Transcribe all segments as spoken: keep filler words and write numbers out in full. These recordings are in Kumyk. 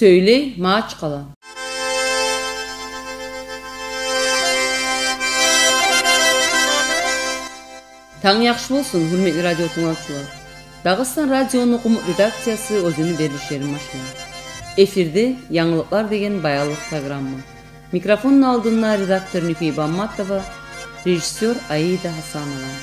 Сёйлей Магьачкъала. Танг яхшы болсун, гьюрметли радио тынглавчулар. Дагъыстан радиону къумукъ редакциясы оьзюню берилишлерин башлай. Эфирде «Янгылыкълар» деген баянлыкъ программа. Микрофонну алдында редактор Нюфий Бамматова, режиссёр Аида Гьасанова.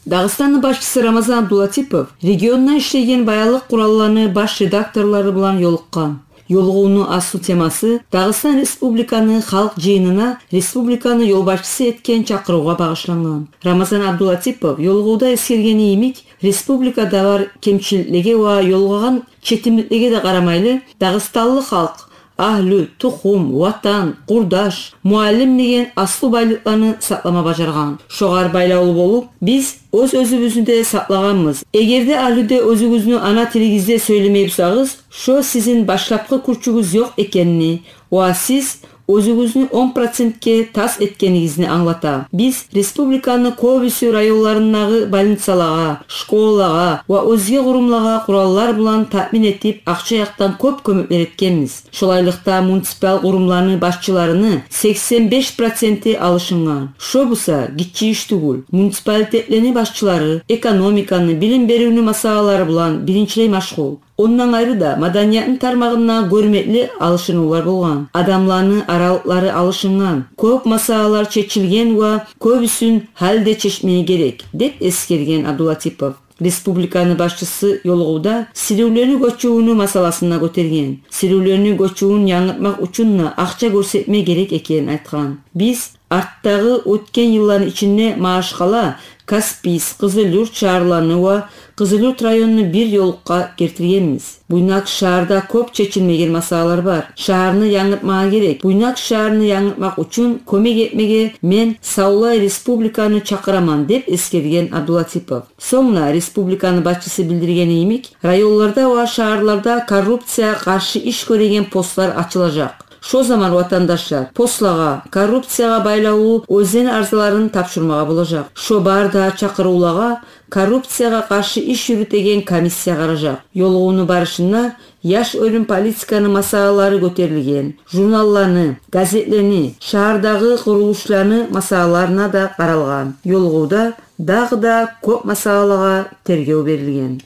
Дагъыстанны башчысы Рамазан Абдулатипов регионда ишлейген баянлыкъ къуралланы баш редакторлары булан ёлукъгъан. Ёлугъувну аслу темасы Дагъыстан Республиканы Халкъ Жыйынына республиканы ёлбашчысы этген чакъырывгъа багъышлангъан. Рамазан Абдулатипов ёлугъувда эсгергени йимик, республикада бар кемчиликлеге ва ёлугъагъан четимликлеге де къарамайлы, дагъыстанлы халкъ агьлю, тухум, ватан, къурдаш, муаллим деген аслу байлыкъланы сакълама бажаргъан. Шогъар байлавлу болуп, биз оьз-оьзюбюзню де сакълагъанбыз. Эгер де агьлюде оьзюгюзню ана тилигизде сёйлемей бусагъыз, шо сизин башлапгъы кюрчюгюз ёкъ экенни ва сиз оьзюгюзню он процентге тас этгенигизни англата. Биз республиканы кёбюсю районларындагъы больницалагъа, школагъа ва оьзге къурумлагъа къураллар булан таъмин этип, акъча якъдан кёп кёмеклер этгенбиз. Шолайлыкъда муниципал къурумланы башчыларыны сексен беш проценти алышынгъан. Шо буса гиччи иш тюгюл. Муниципалитетлени башчылары экономиканы, билим беривню масъалалары булан биринчилей машгъул. Ондан айры да, маданиятны тармагъында гёрмекли алышынывлар болгъан. Адамланы аралыкълары алышынгъан. Кёп масъалалар чечилген ва кёбюсюн гьали де чечмеге герек, деп эсгерген Абдулатипов. Республиканы башчысы ёлугъувда сиривлени гёчювюню масъаласын да гётерген. Сиривлени гёчювюн янгыртмакъ учун да акъча гёрсетме герек экенин айтгъан. Биз артдагъы оьтген йылланы ичинде Магьачкъала, Каспийск, Къызылюрт шагьарланы ва Къызылюрт районну бир ёлукъгъа гелтиргенбиз. Буйнакск шагьарда кёп чечилмеген масъалалар бар. Шагьарны янгыртмагъа герек. Буйнакск шагьарны янгыртмакъ учун кёмек этмеге мен савлай республиканы чакъыраман, деп эсгерген Абдулатипов. Сонг да республиканы башчысы билдиргени йимик, районларда ва шагьарларда коррупциягъа къаршы иш гёреген постлар ачылажакъ. Шо заман ватандашлар постлагъа, коррупциягъа байлавлу оьзлени арзаларын тапшурмагъа болажакъ. Шо бары да чакъырывлагъа коррупциягъа къаршы иш юрютеген комиссия къаражакъ. Ёлугъувну барышында яш оьлюм политиканы масъалалары гётерилген. Журналланы, газетлени, шагьардагъы къурулушланы масъалаларына да къаралгъан. Ёлугъувда дагъы да кёп масъалагъа тергев берилген.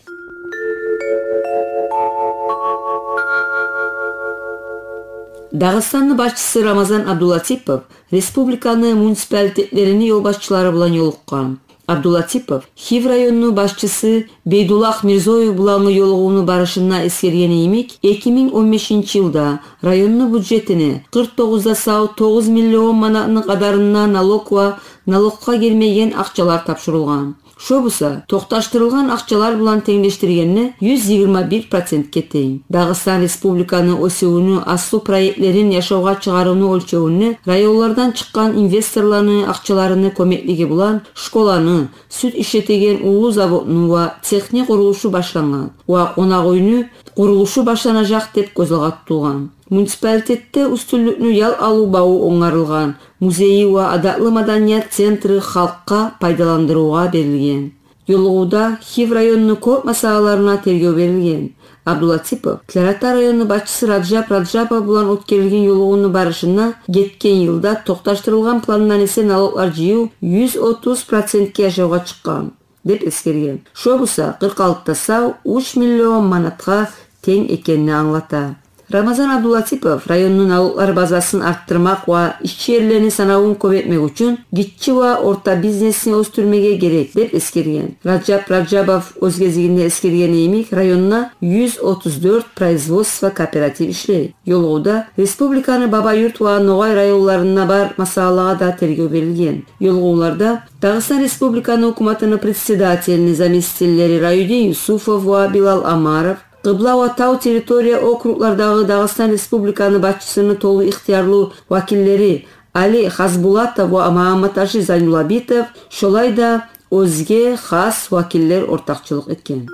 Дагъыстанны башчысы Рамазан Абдулатипов республиканы муниципалитетлерини ёлбашчылары булан ёлукъгъан. Абдулатипов Хив районну башчысы Бейдуллагь Мирзоев булангъы ёлугъувну барышында эсгергени йимик, эки минг он бешинчи йылда районну бюджетине къыркъ тогъуз да сав тогъуз миллион манатны къадарында налог ва налогъа гирмейген акъчалар тапшурулгъан. Шо буса токъташдырылгъан акъчалар булан тенглешдиргенде юз йигирма бир процентге тенг. Дагъыстан Республиканы оьсювюню аслу проектлерин яшавгъа чыгъарывну оьлчевюнде районлардан чыкъгъан инвесторланы акъчаларыны кёмеклиги булан школаны, сют ишлетеген уллу заводну ва цехни къурулушу башлангъан ва къонакъ уьйню къурулушу башланажакъ деп гёз алгъа тутулгъан. Муниципалитетде уьстюнлюкню ял алыв баву онгарылгъан, музейи ва адатлы маданият центри халкъгъа пайдаландырывгъа берилген. Ёлугъувда Хив районну кёп масъалаларына тергев берилген. Абдулатипов Тлярата районну башчысы Раджаб Раджабов булан оьтгерилген ёлугъувну барышында гетген йылда токъташдырылгъан пландан эсе налоглар жыйыв юз отуз процентге яшавгъа чыкъгъан деп эсгерген. Шо буса къыркъ алты да сав уьч миллион манатгъа тенг экенни англата. Рамазан Абдулатипов районну налоглар базасын артдырмакъ ва ишчи эрлени санавун кёп этмек учун гиччи ва орта бизнесни оьсдюрмеге герек деп эсгерген. Раджаб Раджабов оьз гезигинде эсгергени йимик, районда юз отуз дёрт производство кооператив ишлей. Ёлугъувда республиканы Бабаюрт ва Ногъай районларында бар масъалалагъа да тергев берилген. Ёлугъувларда Дагъыстан Республиканы гьукуматыны председателини заместителлери Раюдин Юсупов ва Билал Амаров, Къыбла ва Тав территория округлардагъы Дагъыстан Республиканы башчысыны толу ихтиярлы вакиллери Али Хазбулатов ва Магьамматаши Зайнуллабитов, шолай да оьзге хас вакиллер ортакъчылыкъ этген.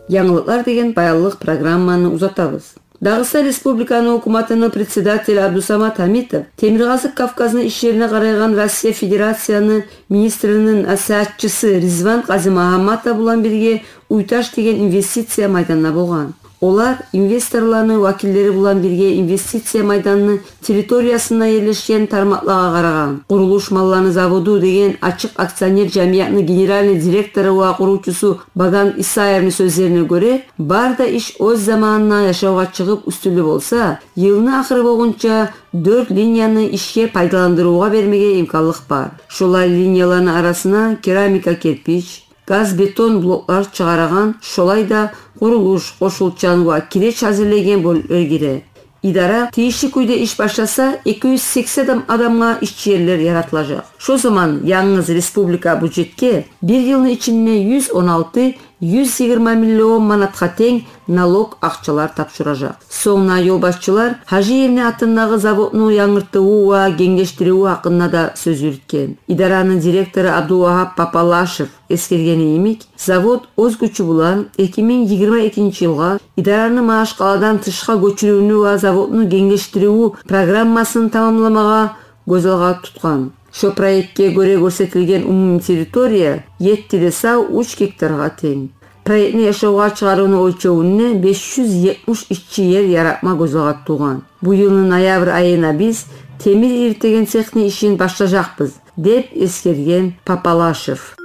Янгылыкълар деген баянлыкъ программаны узатабыз. Дагъыстан Республиканы гьукуматыны председатели Абдусамат Гьамитов Темиркъазыкъ Кавказны ишлерине къарайгъан Россия Федерацияны министрини насигьатчысы Ризван Къазимагьамматов булан бирге Уьйташ деген инвестиция майданына болгъан. Олар инвесторланы вакиллери булан бирге инвестиция майданыны территориясында ерлешген тармакълагъа къарагъан. «Къурулуш малланы заводу» деген ачыкъ акционер жамиятны генеральный директору ва къурувчусу Баган Исаевни сёзлерине гёре, бары да иш оьз заманына яшавгъа чыгъып уьстюнлю болса, йылны ахыры болгъунча дёрт линияны ишге пайдаландырывгъа бермеге имканлыкъ бар. Шолай линияланы арасына керамика, кирпич, газ-бетон блоклар чыгъарагъан, шолай да къурулуш, къошулчан ва киреч гьазирлейген бёлюклер гире. Идара тийишли кюйде иш башласа, эки юз сексен адам-, адамгъа ишчи ерлер яратылажакъ. Шо заман янгыз республика бюджетге бир йылны ичинде юз он алты, юз йигирма миллион манатгъа тенг налог акъчалар тапшуражакъ. Сонг ёлбашчылар Гьажиевни атындагъы заводну янгыртыву ва генгештиривю гьакъында да сёз юрютген. Идараны директору Абдулвагьап Папалашев эсгергени йимик, завод оьз гючю булан эки минг йигирма экинчи йылгъа идараны машгъаладан тышгъа гёчюрювню ва заводну генгештиривню программасын тамамламагъа гёз алгъа тутгъан. Шо проектге гёре гёрсетилген умумий территория етти де сав уьч гектаргъа тенг. Проектни яшавгъа чыгъарывну оьлчевюнде беш юз етмиш ишчи ер яратма гёз алгъа тутулгъан. Бу йылны ноябрь айына биз темир иритеген цехни ишин башлажакъбыз, деп эсгерген Папалашев.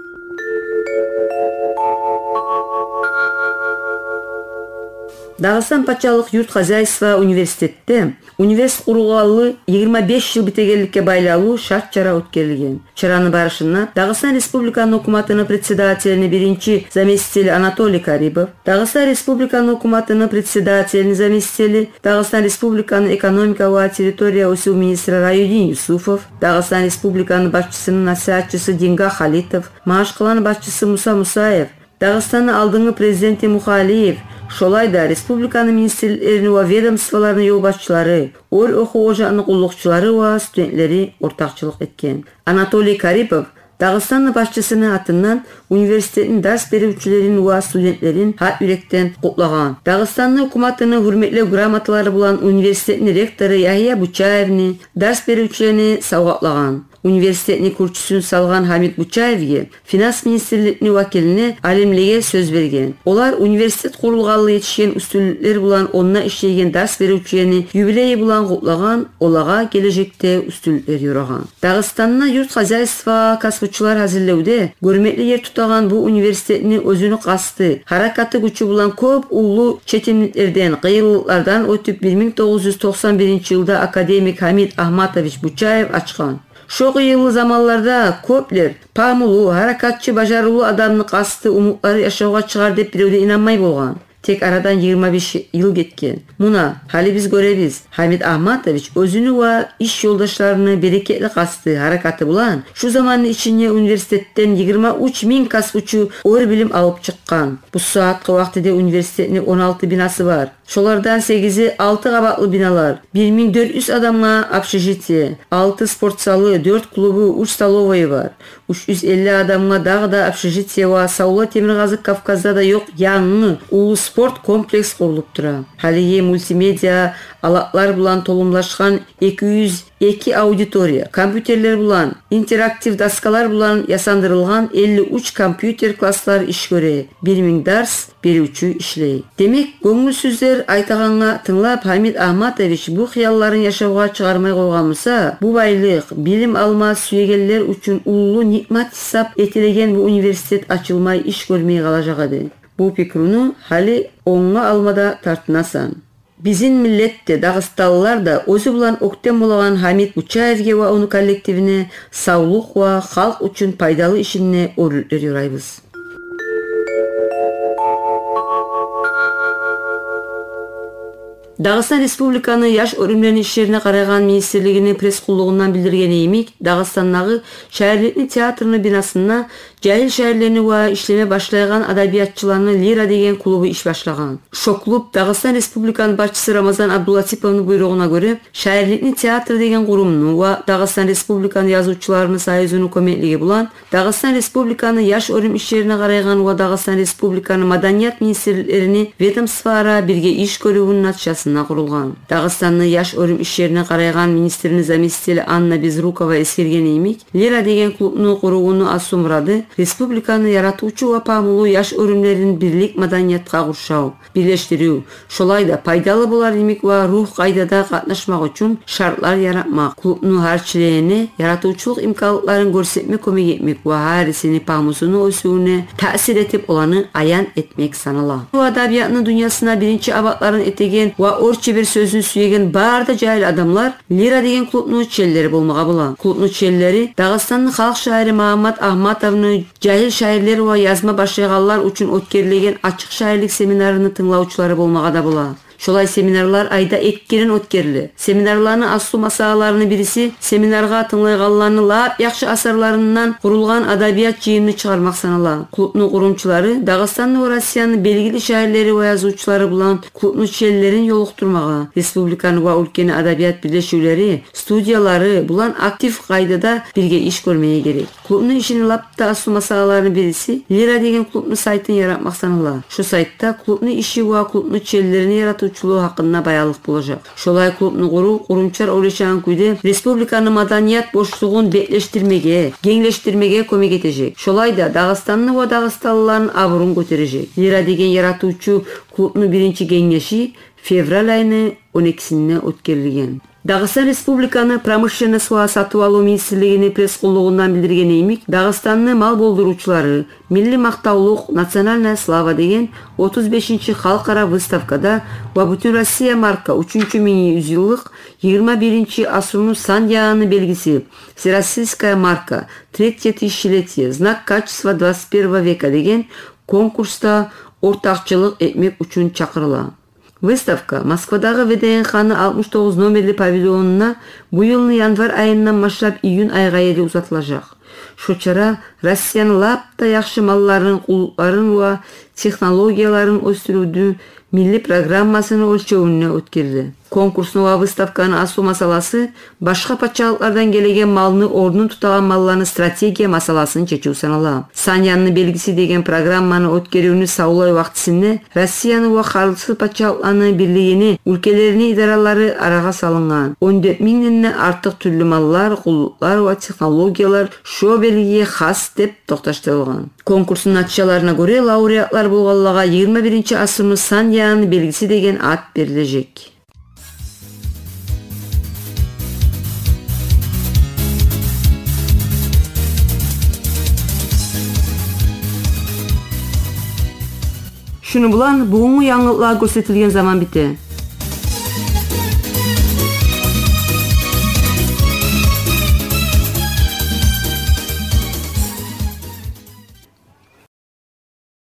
Дагъыстан пачалыкъ юрт хозяйство университетде университет къурулгъанлы йигирма беш йыл битегенликге байлавлу шарт-чара оьтгерилген. Чараны барышында Дагъыстан Республиканы гьукуматыны председателини биринчи заместители Анатолий Карипов, Дагъыстан Республиканы гьукуматыны председателини заместители, Дагъыстан Республиканы экономика ва территория оьсюв министри Раюдин Юсупов, Дагъыстан Республиканы башчысыны насигьатчысы Дингах Халитов, Магьачкъаланы башчысы Муса Мусаев, Дагъыстанны алдынгы президенти Мухалиев, шолай да республиканы министрликни ва ведомстволаны ёлбашчылары, оьр охув ожагъыны къуллукъчулары ва студентлери ортакъчылыкъ этген. Анатолий Карипов Дагъыстанны башчысыны атындан университетни дарс беривчюлерин ва студентлерин гьакъ юрекден къутлагъан. Дагъыстанны гьукуматыны гьюрметлев грамоталары булан университетни ректору Ягьия Бучаевни, дарс беривчюлени савгъатлагъан. Университетни кюрчюсюн салгъан Гьамит Бучаевге финанс министрликни вакилине алимлеге сёз берген. Олар университет къурулгъанлы етишген уьстюнлюклер булан онда ишлейген дарс беривчюлени юбилейи булан къутлагъан, олагъа гележекде уьстюнлюклер ёрагъан. Дагъыстанда юрт хозяйство касбучулар гьазирлевде гёрмекли ер тутагъан бу университетни оьзюню къасты, гьаракаты гючю булан кёп уллу четимликлерден, къыйынлыкълардан оьтюп, бир минг тогъуз юз токъсан биринчи йылда академик Гьамит Агьматович Бучаев ачгъан. Шо къыйынлы заманларда кёплер пагьмулу, гьаракатчы, бажарывлу адамны къасты, умутлары яшавгъа чыгъар деп бирев де инанмай болгъан. Тек арадан йигирма беш йыл гетген. Муна, гьали биз гёребиз, Гьамит Агьматович оьзюню ва иш ёлдашларыны берекетли къасты, гьаракаты булан шу заманны ичинде университетден йигирма уьч минг касбучу оьр билим алып чыкъгъан. Бу сагьатгъы вакътиде университетни он алты бинасы бар. Шолардан сегизи алты къабатлы биналар, бир минг дёрт юз адамгъа общежитие, алты спортзалы, дёрт клубу, уьч столовойи бар. Уьч юз элли адамгъа дагъы да общежитие ва савлай Темиркъазыкъ Кавказда да ёкъ янгы уллу спорт комплекс къурулуп тура. Гьалиги мультимедиа алатлар булан толумлашгъан эки юз эки аудитория, компьютерлер булан, интерактив доскалар булан ясандырылгъан элли уьч компьютер класслар иш гёре, бир минг дарс беривчю ишлей. Демек, гёнгюлсюзлер айтагъангъа тынглап, Гьамит Агьматович бу хыялларын яшавгъа чыгъармай къойгъан буса, бу байлыкъ, билим алма сюегенлер учун уллу ниъмат гьисап этилеген бу университет ачылмай, иш гёрмей къалажакъ эди. Бу пикруну гьали онгъа алма да тартынасан. Бизин миллет де, дагъыстанлылар да оьзю булан оьктем болагъан Гьамит Бучаевге ва ону коллективине савлукъ ва халкъ учун пайдалы ишинде оьрлюклер ёрайбыз. Дагъыстан Республиканы яш оьрюмлени ишлерине къарайгъан министрлигини пресс-къуллугъундан билдиргени йимик, Дагъыстандагъы шаирликни театрны бинасында жагьил шаирлени ва ишлеме башлайгъан адабиятчыланы «Лира» деген клубу иш башлагъан. Шо клуб, Дагъыстан Республиканы башчысы Рамазан Абдулатиповну буйругъуна гёре, шаирликни театры деген къурумну ва Дагъыстан Республиканы язывчуларыны союзуну кёмеклиги булан Дагъыстан Республиканы яш оьрюм ишлерине къарайгъан ва Дагъыстан Республиканы маданият министрликлерини ведомствоара бирге иш гёрювюню натижасында къурулгъан. Дагъыстанны яш оьрюм ишлерине къарайгъан министрини заместители Анна Безрукова эсгергени йимик, «Лира» деген клубну къурувну аслу мурады республиканы яратывчу ва пагьмулу яш оьрюмлерин бирлик маданиятгъа къуршав, бирлешдирив, шолай да пайдалы болар йимик ва ругь къайдада къатнашмакъ учун шартлар яратмакъ, клубну гьар членине яратывчулукъ имканлыкъларын гёрсетме кёмек этмек ва гьарисини пагьмусуну оьсювюне таъсир этип, оланы аян этмек санала. Бу адабиятны дюньясына биринчи абатларын этеген ва орчебер сёзню сюеген бары да жагьил адамлар «Лира» деген клубну членлери болмагъа бола. Клубну членлери Дагъыстанны халкъ шаири Магьаммат Агьматовну жагьил шаирлер ва язма башлайгъанлар учун оьтгерилеген ачыкъ шаирлик семинарыны тынглавчулары болмагъа да бола. Шолай семинарлар айда эки керен оьтгериле. Семинарланы аслу масъалаларыны бириси — семинаргъа тынглайгъанланы лап яхшы асарларындан къурулгъан адабият жыйынны чыгъармакъ санала. Клубну къурумчулары Дагъыстанны ва Россияны белгили шаирлери ва язывчулары булан клубну членлерин ёлукъдурмагъа, республиканы ва уьлкени адабият бирлешивлери, студиялары булан актив къайдада бирге иш гёрмеге герек. Клубну ишини лап да аслу масъалаларыны бириси — «Лира» деген клубну сайтын яратмакъ санала. Шо сайтда клубну иши ва клубну членлерини яратывчулугъу гьакъында баянлыкъ болажакъ. Шолай клубну къурув къурумчулар ойлашагъан кюйде республиканы маданият бошлугъун беклешдирмеге, генглешдирмеге кёмек этежек. Шолай да Дагъыстанны ва дагъыстанлыланы абурун гётережек. «Лира» деген яратывчу клубну биринчи генгеши февраль айны он экисинде оьтгерилген. Дагъыстан Республиканы промышленность ва сатыв-алыв министрлигини пресс-къуллугъундан билдиргени йимик, Дагъыстанны мал болдурувчулары, милли макътавлукъ, «Национальная слава» деген отуз бешинчи халкъара выставкада ва «Бютюнроссия марка: уьчюнчю минг юз йыллыкъ, йигирма биринчи асруну сан ягъыны белгиси, «Всероссийская марка: третье тысячелетие: знак качества двадцать первого века» деген конкурсда ортакъчылыкъ этмек учун чакъырыла. Выставка Москвадагъы ВДНХ-ны алтмыш тогъуз номерли павильонунда бу йылны январь айындан башлап июнь айгъа ерли узатылажакъ. Шо чара Россияны лап да яхшы малларын, къуллукъларын ва технологияларын оьсдюрювню милли программасыны оьлчевюнде оьтгериле. Конкурсну ва выставканы аслу масъаласы — башгъа пачалыкълардан гелеген малны орнун тутагъан малланы стратегия масъаласын чечив санала. «Сан ягъыны белгиси» деген программаны оьтгерювню савлай вакътисинде Россияны ва Къарасгъалдыкъ пачалыкъланы бирлигини уьлкелерини идаралары арагъа салынгъан. Он дёрт мингден де артыкъ тюрлю маллар, къуллукълар ва технологиялар шо белгиге хас деп токъташдырылгъан. Конкурсну натижаларына гёре, лауреатлар болгъанлагъа йигирма биринчи асруну сан ягъыны белгиси деген ат берилежек. Шуну булан бугюнгю янгылыкълагъа гёрсетилген заман бите.